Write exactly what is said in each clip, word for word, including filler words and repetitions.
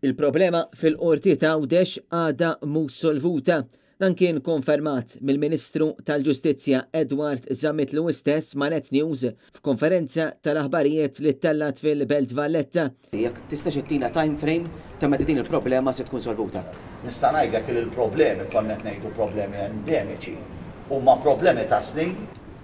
Il-problema fil-Qorti ta' Għawdex għadha mhux solvuta. Dan kien konfermat mill-Ministru tal-Ġustizzja Edward Zammit Lewis stess ma' Net News f'konferenza tal-aħbarijiet li ttellgħet fil-Belt Valletta. Jekk tistax ittina time frame ta' meta din il-problema se tkun solvuta. Nista' ngħidlek li l-problemi, konna qed ngħidu problemi endemiċi, huma problemi ta' snin.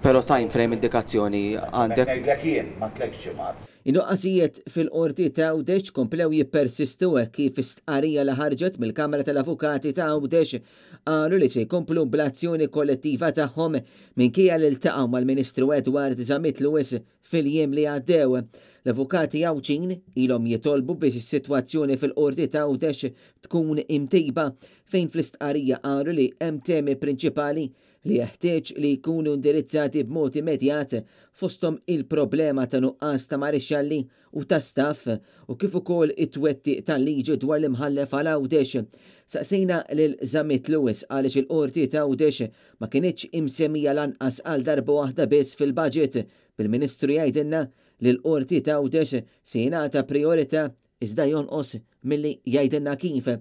Però time frame, indikazzjoni għandek? Ngħidlek jien, ma tliet ġimgħat. In-nuqqasijiet fil-Qorti ta' Għawdex komplew jippersistu hekk kif stqarrija li ħarġet mill-Kamra tal-Avukati ta' Għawdex qalu li se jkomplu bl-azzjoni kollettiva tagħhom minkejja li ltaqgħu mal-Ministru Edward Zammit Lewis fil-jiem li għaddew. L-avukati Għawdxin ilhom jitolbu biex is-sitwazzjoni fil-Qorti ta' Għawdex tkun imtejba, fejn fl-istqarrija qalu li hemm temi prinċipali li jeħtieġ li jkunu indirizzati b'mod immedjat, fosthom il-problema ta' nuqqas ta' marixxalli u ta' staff u kif ukoll it-twettiq tal-liġi dwar l-imħallef għal Għawdex. Saqsejna lil Zammit Lewis għaliex il-Qorti ta' Għawdex ma kinitx imsemmija lanqas għal darba waħda biss fil-budget, bil-Ministru jgħidilna li l-Qorti ta' Għawdex se jingħata priorità, iżda jonqos milli jgħidilna kif.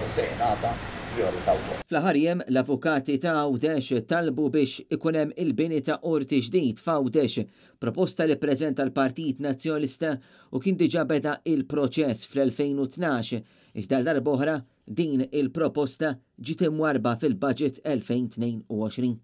Se jingħata priorità wkoll. Fl-aħħar jiem l-avukati ta' Għawdex talbu biex ikun hemm il-bini ta' qorti ġdid f'Għawdex, proposta li ppreżenta l-Partit Nazzjonalista u kien diġà beda il-proċess fl-elfejn u tnax, iżda darb'oħra din il-proposta ġiet imwarba fil-budget elfejn u tnejn u għoxrin.